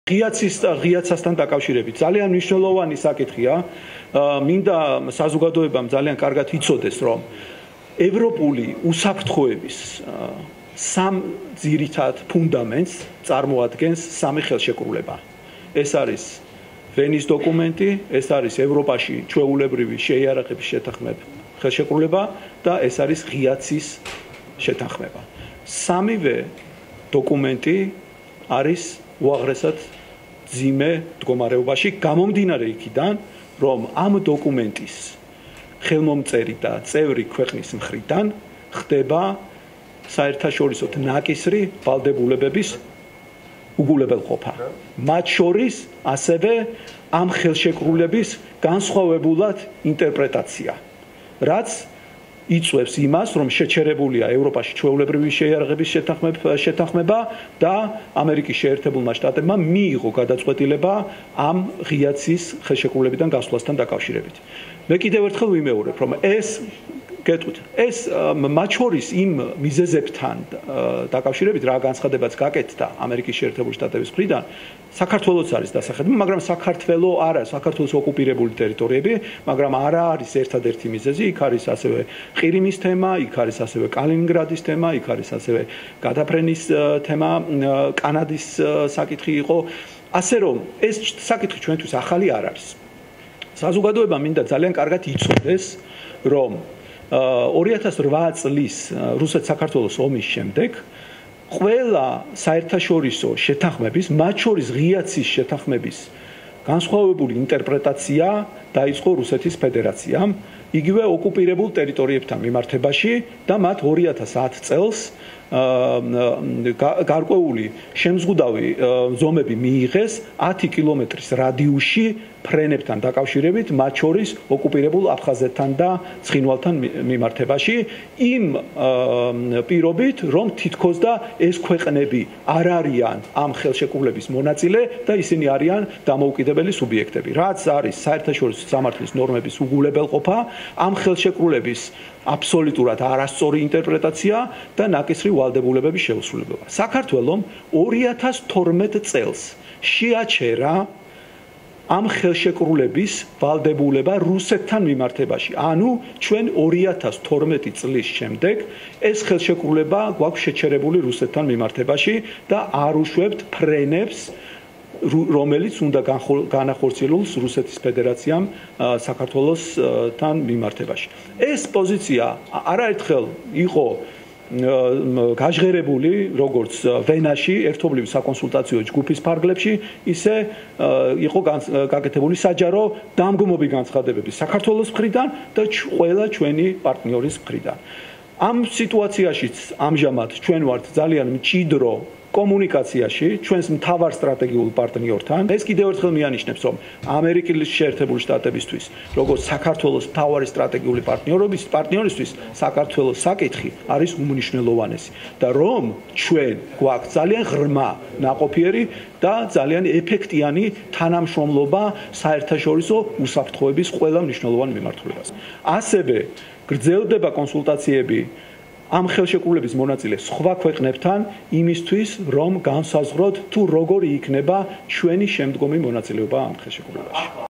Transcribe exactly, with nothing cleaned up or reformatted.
ღიაცის ღიაცასთან დაკავშირებით ძალიან მნიშვნელოვანი საკითხია. მინდა საზოგადოებამ ძალიან კარგად იცოდეს, რომ ევროპული უსაფრთხოების სამ ძირითად ფუნდამენტს წარმოადგენს სამი ხელშეკრულება. ეს არის ვენის დოკუმენტი, ეს არის ევროპაში ჩვეულებრივი შეიარაღების შეთანხმება ხელშეკრულება და ეს არის ღიაცის შეთანხმება. სამივე დოკუმენტი არის უაღრესად ძიმე მდგომარეობაში, გამომდინარე იქიდან, რომ ამ დოკუმენტის ხელმომწერი და წევრი ქვეყნის მხრიდან ხდება საერთაშორისო ნაკისრი ვალდებულებების უგულებელყოფა. მათ შორის ასევე ამ ხელშეკრულების განსხვავებულად ინტერპრეტაცია, რაც იწვევს იმას, რომ შეჩერებულია ევროპაში ჩვეულებრივი შეიარაღების შეთანხმება და ამერიკის შეერთებულმა შტატებმა მიიღო გადაწყვეტილება ამ ღიაცის ხელშეკრულებიდან გასვლასთან დაკავშირებით. მე კიდევ ერთხელ ვიმეორებ, რომ ეს გეტყვით, ეს მათ შორის იმ მიზეზებთან დაკავშირებით, რა განცხადებაც გაკეთდა ამერიკის შეერთებული შტატების მხრიდან, საქართველოც არის დასახელებული, მაგრამ საქართველო არა, საქართველოს ოკუპირებული ტერიტორიები, მაგრამ არა არის ერთადერთი მიზეზი, იქ არის ასევე ყირიმის თემა, იქ არის ასევე კალინინგრადის თემა, იქ არის ასევე გადაფრენის თემა, კანადის საკითხი იყო, ასე რომ ეს საკითხი ჩვენთვის ახალი არ არის. საზოგადოება მინდა ძალიან კარგად იცოდეს, რომ ორი ათას რვა წლის რუსეთ-საქართველოს ომის შემდეგ ყველა საერთაშორისო შეთანხმების, მათ შორის ღიაცის შეთანხმების განსხვავებული ინტერპრეტაცია დაიწყო რუსეთის ფედერაციამ, იგივე ოკუპირებულ ტერიტორიებთან მიმართებაში და მათ ორი ათას ათ წელს გარკვეული შემზღუდავი ზომები მიიღეს ათი კილომეტრის რადიუსში ფრენებთან დაკავშირებით, მათ შორის ოკუპირებულ აფხაზეთთან და ცხინვალთან მიმართებაში, იმ პირობით, რომ თითქოს და ეს ქვეყნები არ არიან ამ ხელშეკრულების მონაწილე და ისინი არიან დამოუკიდებელი სუბიექტები. რაც არის საერთაშორისო სამართლის ნორმების უგულებელყოფა, ამ ხელშეკრულების აბსოლუტურად არასწორი ინტერპრეტაცია და ნაკისრი ვალდებულებების შეუსრულებლობა. საქართველომ ორი ათას თორმეტ წელს შეაჩერა ამ ხელშეკრულების ვალდებულება რუსეთთან მიმართებაში. ანუ ჩვენ ორი ათას თორმეტი წლის შემდეგ ეს ხელშეკრულება გვაქვს შეჩერებული რუსეთთან მიმართებაში და არ უშვებთ ფრენებს, რომელიც უნდა განახორციელოს რუსეთის ფედერაციამ საქართველოსთან მიმართებაში. ეს პოზიცია არაერთხელ იყო გაჟღერებული როგორც ვენაში ერთობლივი საკონსულტაციო ჯგუფის ფარგლებში, ისე იყო გაკეთებული საჯარო დამგმობი განცხადებები საქართველოს მხრიდან და ყველა ჩვენი პარტნიორის მხრიდან. ამ სიტუაციაშიც ამჟამად ჩვენ ვართ ძალიან მჭიდრო კომუნიკაციაში ჩვენს მთავარ სტრატეგიულ პარტნიორთან. ეს კიდევ ერთხელ მიანიშნებს, რომ ამერიკის შეერთებული შტატებისთვის, როგორც საქართველოს მთავარი სტრატეგიული პარტნიორობის პარტნიორისთვის, საქართველოს საკითხი არის უმნიშვნელოვანესი და რომ ჩვენ გვაქვს ძალიან ღრმა ნაყოფიერი და ძალიან ეფექტიანი თანამშრომლობა საერთაშორისო უსაფრთხოების ყველა მნიშვნელოვან მიმართულებას. ასევე გრძელდება კონსულტაციები ამ ხელშეკრულების მონაწილე სხვა ქვეყნებთან იმისთვის, რომ განსაზღვროთ თუ როგორი იქნება ჩვენი შემდგომი მონაწილეობა ამ ხელშეკრულებაში.